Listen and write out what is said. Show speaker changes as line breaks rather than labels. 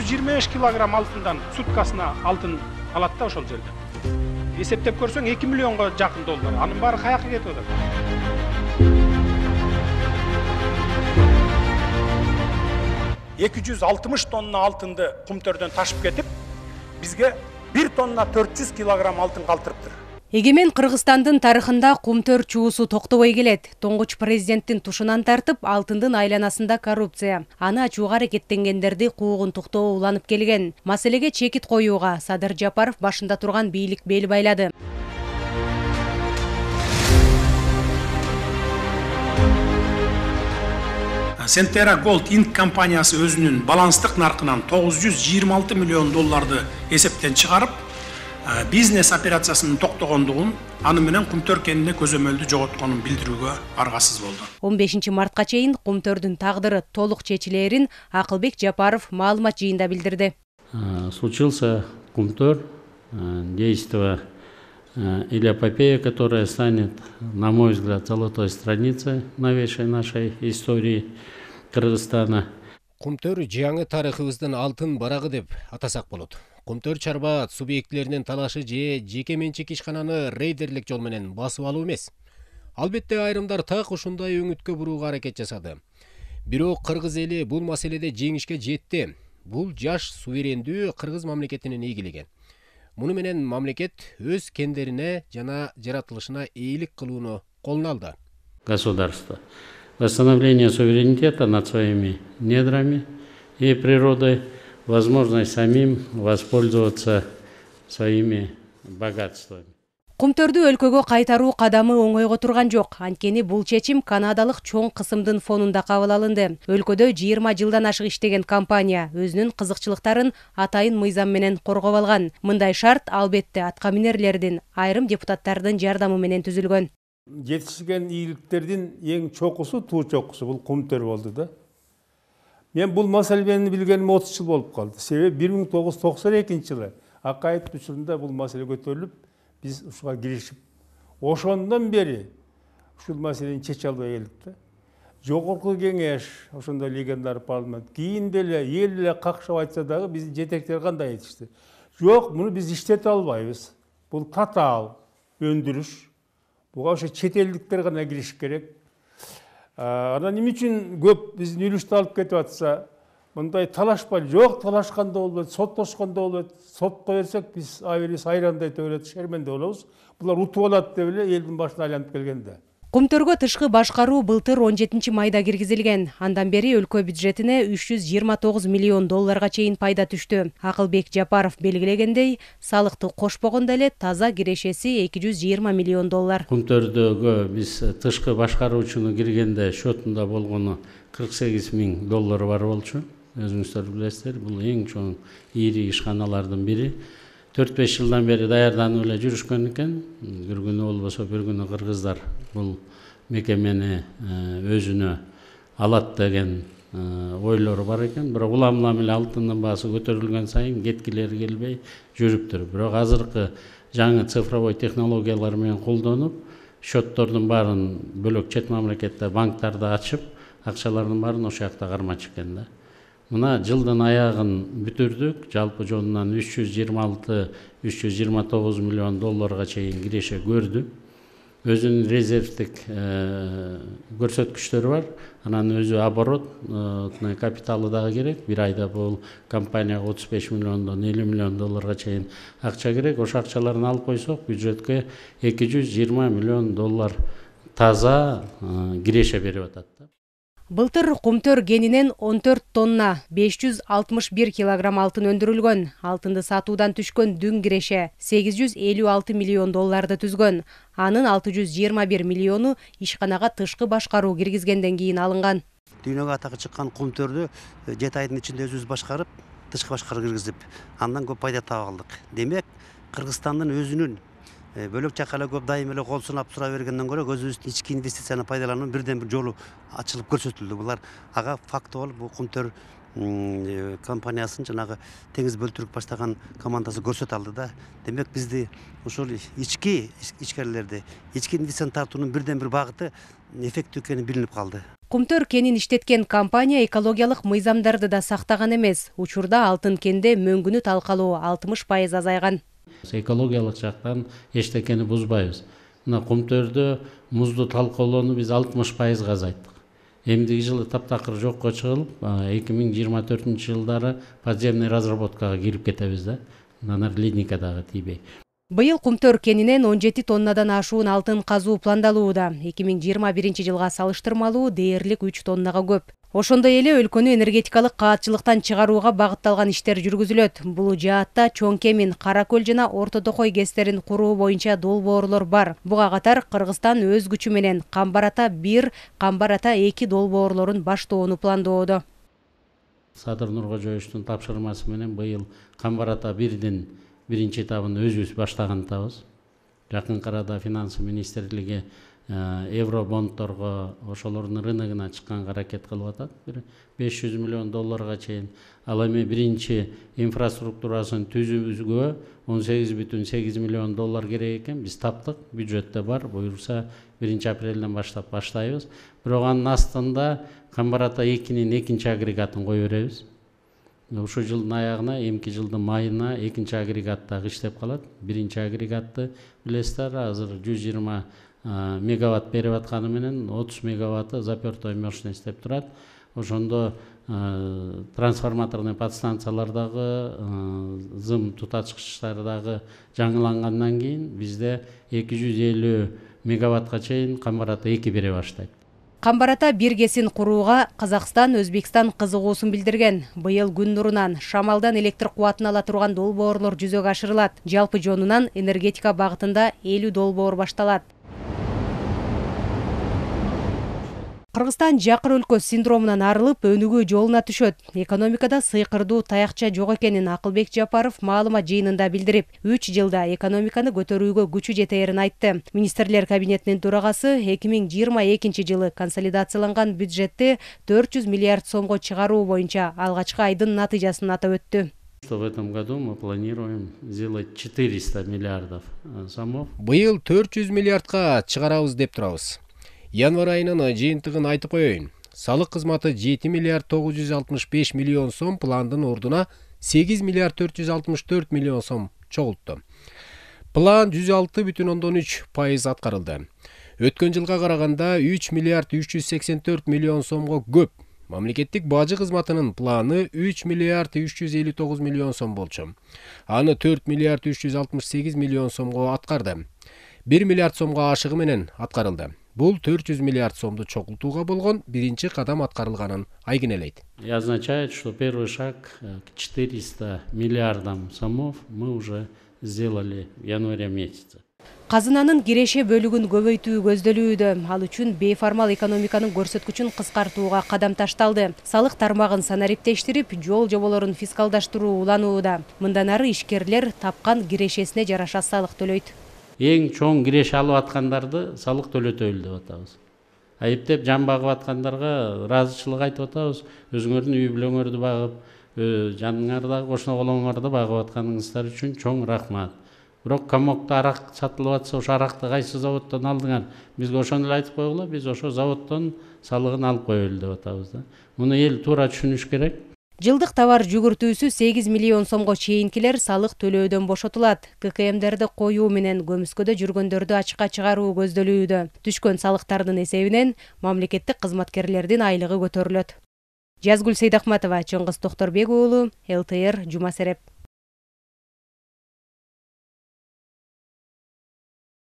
125 килограмм алтындан суткасына алтын алат да ошол жерде. Эсептеп көрсөң 2 миллионго жакын доллар. Анын баары каяка кетип атат? Эки жүз 60 тонна алтынды Кумтөрдөн ташып кетип, бизге 1 тонна 400 килограмм алтын калтырыптыр.
Эгемен Кыргызстандын тарыхында Кумтөр чуусу токтобой келет. Тоңгуч президенттин тушунан тартып, алтындын айланасында коррупция. Аны ачууга аракеттенгендерди куугун туктоо уланып келген. Маселеге чекит коюуга Садыр Жапаров башында турган бийлик бел байлады.
Centera Gold Inc. компаниясы өзүнүн баланстык наркынан 926 миллион долларды эсептен чыгарып, бизнес операциясынын токтогондугун, аны менен Кумтөр кенинде көзөмөлдү жоготконун билдирүүгө аргасыз болду.
15 мартка чейин Кумтөрдүн тагдыры толук чечилерин Акылбек Жапаров маалымат жыйында билдирди.
Случился Кумтөр, действо или эпопея, которая станет, на мой взгляд, золотой страницей новейшей нашей истории Кыргызстана.
Кумтөр жаңы тарыхыбыздын алтын барагы деп атасак болот. Кумтөр чарба субъектлеринин талашы же жеке менчик ишкананы рейдерлик жол менен басып алуу эмес. Албетте айрымдар так ушундай өңүткө бурууга аракет жасады. Бирок кыргыз эли бул маселеде жеңишке жетти. Бул жаш суверендүү кыргыз мамлекетинин ийгилиги. Муну менен мамлекет өз кендерине жана жаратылышына ийгилик кылууну колуна алды.
Государство. Восстановление суверенитета над своими недрами и природой, возможность самим воспользоваться своими богатствами.
Кумтөрдү өлкөгө кайтаруу кадамы оңойго турган жок. Анткени бул чечим канадалык чоң кысымдын фонунда кабыл алынды. Өлкөдө 20 жылдан ашык иштеген компания өзүнүн кызыкчылыктарын атайын мыйзам менен коргоп алган. Мындай шарт албетте атка минерлердин, айрым депутаттардын жардамы менен түзүлгөн.
Жетишкен ийгиликтердин эң чокусу, туу чокусу бул Кумтөр болду да. Мен бул маселени билгениме 30 жыл болуп калды. Себеби 1992-жылы Акаев учурунда бул маселе көтөрүлүп, биз ушуга киришип, ошондон бери ушул маселени чече албай келдик да. Жогорку кеңеш, ошондой легендар парламент, кийин деле эл эле какшап айтса дагы биздин жетектер кандай айтышты. Жок, муну биз иштете албайбыз. Бул татаал өндүрүш. Буга ошо чет элдиктер гана кириш керек. Анан эмне үчүн көп биздин үлүштү алып кетип атса, мындай талашпай, жок, талашканда болбойт, соттошкондо болбойт. Сотко берсек биз абелибиз айрандай төгүлөт, шерменде болобуз. Булар утуп алат деп эле элдин башына айланып келгенде.
Кумтөргө тышкы башкаруу былтыр 17 майда киргизилген. Андан бери өлкө бюджетине 329 миллион долларга чейин пайда түштү. Акылбек Жапаров белгилегендей, салыкты кошпогондо эле таза кирешеси 220 миллион доллар.
Кумтөрдөгө биз тышкы башкаруучуну киргенде счетунда болгону 48 миң доллар бар болчу. Өзүңүздөр билесиздер, бул эң чоң ири ишканалардын бири. 4-5 жылдан бери даярданып эле жүрүшкөн экен. Бир күнү болбосо бир күнү кыргыздар бул мекемени өзүнө алат деген ойлору бар экен. Бирок улам эле алтындын баасы көтөрүлгөн сайын кеткилери келбей жүрүптүр. Бирок азыркы жаңы цифровой технологиялар менен колдонуп, счеттордун баарын бөлөк чет мамлекетте банктарда ачып, акчалардын баарын ошол жакта кармачу экен да. Мына жылдын аягын бүтүрдүк, жалпы жонунан 326-329 миллион долларга чейин киреше көрдү. Өзүнүн резервдик көрсөткүчтөрү бар. Анан өзү оборот капиталы дагы керек. Бир айда бул компанияга 35 миллиондон 50 миллион долларга чейин акча керек. Ошо акчаларын алып койсок, бюджетке 220 миллион доллар таза киреше берип атат.
Былтыр Кумтөр кенинен 14 тонна 561 килограмм алтын өндүрүлгөн. Алтынды сатуудан түшкөн дүң киреше 856 миллион долларды түзгөн. Анын 621 миллиону ишканага тышкы башкаруу киргизгенден кийин алынган.
Дүйнөгө атакы чыккан Кумтөрдү 7 айдын ичинде өзүбүз башкарып, тышкы башкаруу киргизип, андан көп пайда таап алдык. Демек, Кыргызстандын өзүнүн бөлөк жака эле көп дайым эле кол сунап тура бергенден көрө өзүбүздүн ички инвестицияны пайдалануунун бирден бир жолу ачылып көрсөтүлдү. Булар ага факт болуп, бул Кумтөр компаниясын жанагы теңиз бөлтүрүп баштаган командасы көрсөтө алды да. Демек бизди ушул ичкерилерди, ички инвестицияны тартуунун бирден бир багыты эффектүү экени билинип калды.
Кумтөр кенин иштеткен компания экологиялык мыйзамдарды да сактаган эмес. Учурда алтын кенде мөңгүнү талкалоо 60% азайган.
Экологиялык жактан эчтекени бузбайбыз. Мына Кумтөрдө музду талкалоону биз 60% азайттык. Эмдиги жылы таптакыр жокко чыгылып, 2024 жылдары подземный разработкага кирип кетебиз да. Анан ледникадагы тийбей.
Быйыл Кумтөр кенинен 17 тоннадан ашуун алтын казуу пландалууда. 2021 жылга салыштырмалуу дээрлик 3 тоннага көп. Ошондой эле өлкөнү энергетикалык каатчылыктан чыгарууга багытталган иштер жүргүзүлөт. Бул жаатта Чоң Кемин, Кара көл жана Орто Токой гэстерин куруу боюнча долбоорлор бар. Буга катар Кыргызстан өз күчү менен Камбар-Ата 1, Камбар-Ата 2 долбоорлорун баштоону пландоодо.
Садыр Нуркожоевичтин тапшырмасы менен быйыл Камбар-Ата 1дин биринчи этабын өзүбүз баштаган атабыз. Жакынкы арада финансы министрлиги евробондторго ошолордун рыногуна чыкканга аракет кылып атат. 500 миллион долларга чейин. Ал эми биринчи инфраструктурасын түзүүгө 18,8 миллион доллар керек экен. Биз таптык, бюджетте бар. Буюрса 1-апрелден баштап баштайбыз. Бирок анын астында Камбар-Ата 2-нин экинчи агрегатын кое беребиз. Ушул жылдын аягына, эмки жылдын майына экинчи агрегат дагы иштеп калат. Биринчи агрегатты билесиздер, азыр 120 мегаватт берип атканы менен 30 мегаватты запертой мощность деп турат. Ошондо трансформаторный подстанциялар дагы, зым тутачкычтар дагы жаңылангандан кийин бизде 250 мегаваттка чейин Камбар-Ата 2 бере баштайт.
Камбар-Ата 1 кесин курууга Казакстан, Өзбекстан кызыгуусун билдирген. Быйыл күн нурунан, шамалдан электр кубатын ала турган долбоорлор жүзөгө ашырылат. Жалпы жонунан энергетика багытында 50 долбоор башталат. Кыргызстан жакыр өлкө синдромунан арылып, өнүгүү жолуна түшөт. Экономикада сыйкырдуу таякча жок экенин Акылбек Жапаров маалымат жыйынында билдирип, 3 жылда экономиканы көтөрүүгө күчү жетээрин айтты. Министрлер кабинетинин төрагасы 2022 жылы консолидацияланган бюджетти 400 миллиард сомго чыгаруу боюнча алгачкы айдын натыйжасын атап өттү.
Что в этом году мы планируем сделать 400 миллиардов сомов.
Быйыл 400 миллиардка чыгарабыз деп турабыз. Январь айынын жыйынтыгын айтып коеюн. Салык кызматы 7 миллиард 965 миллион сом пландын ордуна 8 миллиард 464 миллион сом чогултту. План 106,3% аткарылды. Өткөн жылга караганда 3 миллиард 384 миллион сомго көп. Мамлекеттик бажы кызматынын планы 3 миллиард 359 миллион сом болчу. Аны 4 миллиард 368 миллион сомго аткарды. 1 миллиард сомго ашыгы менен аткарылды. Бул 400 миллиард сомду чогултууга болгон биринчи кадам аткарылганын айгинелейт.
И означает, что первый шаг к 400 миллиардам сомов мы уже сделали в январе месяце.
Казынанын киреше бөлүгүн көбөйтүү көздөлүүдө. Ал үчүн бейформал экономиканын көрсөткүчүн кыскартууга кадам ташталды. Салык тармагын санариптештирип, жол жоболорун фискалдаштыруу уланууда. Мындан ары ишкерлер тапкан кирешесине жараша салык төлөйт.
Эң чоң киреше алып аткандарды салык төлөтөлү деп атабыз. Айыптеп жан багып аткандарга ыраазычылык айтып атабыз. Өзүңөрдүн үй бүлөңөрдү багып, жаныңардагы кошуна колоңорду багып атканыңыздар үчүн чоң рахмат. Бирок комокто арак сатылып атса, ошо аракты кайсы заводдон алдыңар? Бизге ошону эле айтып койгула, биз ошо заводдон салыгын алып коелу деп атабыз да. Муну эл туура түшүнүш керек.
Жылдык товар жүгүртүүсү 8 миллион сомго чейинкилер салык төлөөдөн бошотулат. ККМдерди коюу менен көмүскөдө жүргөндөрдү ачыкка чыгаруу көздөлүүдө. Түшкөн салыктардын эсебинен мамлекеттик кызматкерлердин айлыгы көтөрүлөт. Жазгүл Сейдахматова, Чыңгыз Токторбек уулу, ЛТР, Жума Сереп.